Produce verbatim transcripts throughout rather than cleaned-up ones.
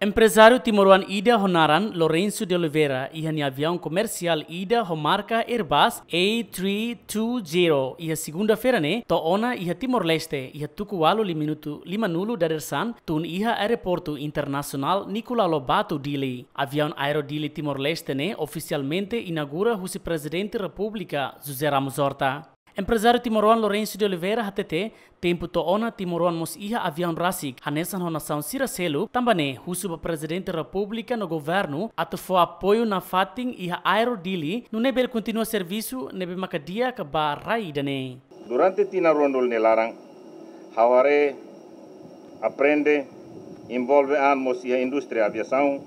Emprezáriu timoroan ida ho naran Lourenço de Oliveira iha nia aviaun komersiál ida ho marka Airbus A three two zero iha segunda-feira ne'e to'o ona iha Timor-Leste iha tuku ualu lima minutu lima nulu dadeer-saan tun iha Aeroportu Internasionál Nicolau Lobato Dili. Aviaun Aero Dili Timor-Leste ne'e ofisialmente inaugura husi Prezidente Repúblika José Ramos Horta. Emprezáriu timoroan Lourenço de Oliveira hatete, tempu to'o ona timoroan mós iha aviaun rasik hanesan ho nasaun sira seluk, tanba ne'e husu ba Prezidente Repúblika no governu atu fó apoiu nafatin iha Aero Dili, nune'e bele kontinua servisu ne'ebé maka di'ak ba rai ida-ne'e. Durante tinan ruanulu nia laran, ha'u haree, aprende, envolve an mós iha indústria aviasaun,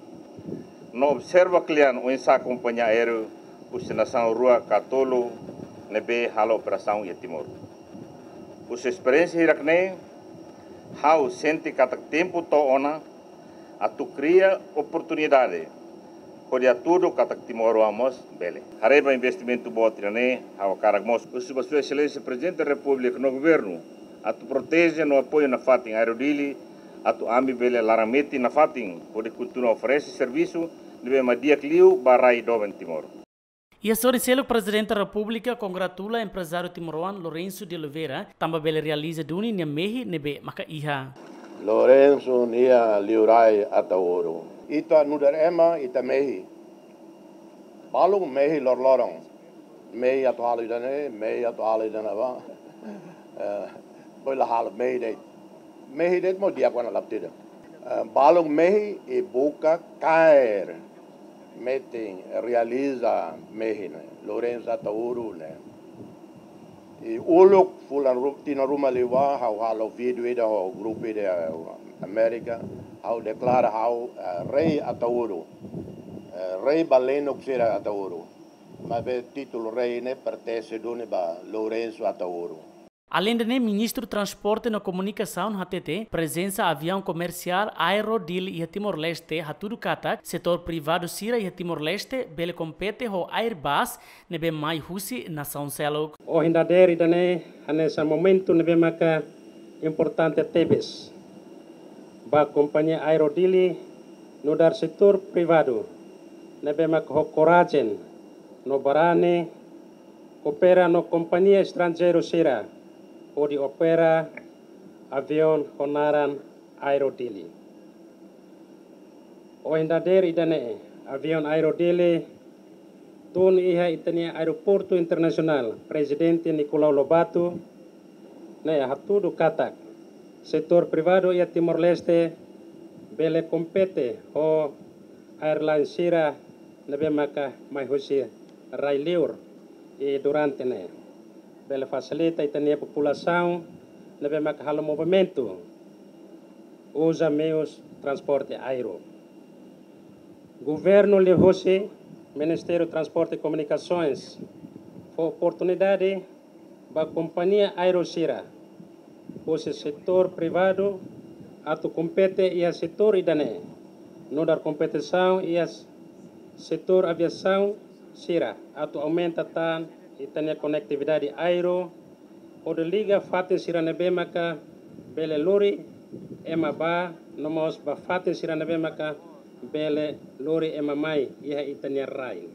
no observa kle'an oinsá kompañia aéreu husi nasaun rua ka tolu ne'ebé halo operasaun iha Timor. Husi esperiénsia hirak-ne'e, ha'u sente katak tempu to'o ona atu kria oportunidade hodi hatudu katak timoroan mós bele. Haree ba investimentu boot ida-ne'e, ha'u hakarak mós husu ba Sua Exelénsia Prezidente da Repúblika no governu atu proteje no apoiu nafatin Aero Dili, atu ami bele laran-metin nafatin hodi kontinua oferese servisu ne'ebé mak di'ak liu ba rai doben Timor. Iha sorin seluk, Prezidente Repúblika kongratula emprezáriu timoroan Lourenço de Oliveira tanba bele realiza duni nia mehi ne'ebé maka iha. Lourenço nia liurai Ataúro. Ita nu'udar ema, ita mehi. Balu mehi loroloron. Mehi atu halo ida-ne'e, mehi atu halo ida-ne'ebá. Eh, bele halo mehi de'it. Mehi de'it mós di'ak ona laptida. Eh, balu mehi i buka kaer metin realiza mehi ne'e. Lourenço Ataúro ne'e. I uluk fulan ru-, tinan ruma liubá, ha'u halo vídeo ida ho grupu ida Amérika, ha'u deklara ha'u, eh, rei Ataúro, eh, rei ba lenuk sira Ataúro. Maibé títulu rei ne'e pertense duni ba Lourenço Ataúro. Aleinde ne'e, Ministru Transporte no Komunikasaun hatete, prezensa aviaun komersiál Aero Dili iha Timor-Leste hatudu katak setór privadu sira iha Timor-Leste bele kompete ho Airbus ne'ebé mai husi nasaun seluk. Ohin dadeer ida-ne'e hanesan momentu ne'ebé maka importante tebes ba kompañia Aero Dili nu'udar setór privadu ne'ebé maka ho korajen no barani koopera no kompañia estranjeiru sira hodi opera aviaun ho naran Aero Dili. Ohin dadeer ida-ne'e, aviaun Aero Dili tun iha ita-nia Aeroportu Internasionál Prezidente Nicolau Lobato ne'e hatudu katak setór privadu iha Timor-Leste bele kompete ho airline sira ne'ebé maka mai husi rai liur, i durante ne'e bele fasilita ita-nia populasaun ne'ebé maka halo movimentu uza meius transporte aéreu. Governu liuhusi Ministériu Transporte e Komunikasoens fó oportunidade ba kompañia aéreu sira husi setór privadu atu kompete iha setór ida-ne'e, nu'udar kompetisaun iha setór aviasaun sira atu aumenta tan ita-nia konektividade aéreu, hodi liga fatin sira ne'ebé maka bele lori ema bá, no mós ba fatin sira ne'ebé maka bele lori ema mai iha ita-nia rai.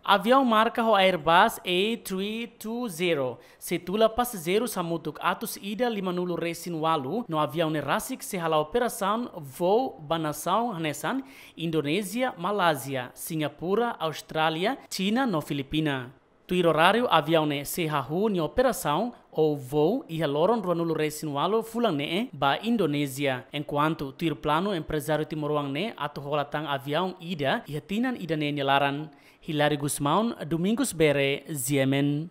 Aviaun marka ho Airbus A three two zero sei tula pasajeirus hamutuk atus ida lima nulu resin ualu, no aviaun ne'e rasik sei hala'o operasaun voo ba nasaun hanesan Indonézia, Malázia, Singapura, Austrália, Xina no Filipina. Tuir oráriu, aviaun ne'e sei hahú nia operasaun ou voo iha loron rua nulu resin ualu fulan ne'e ba Indonézia. Enkuantu tuir planu, emprezáriu timoroan ne'e atu hola tan aviaun ida iha tinan ida-ne'e nia laran. Hilário Gusmão, Domingos Bere, G M N.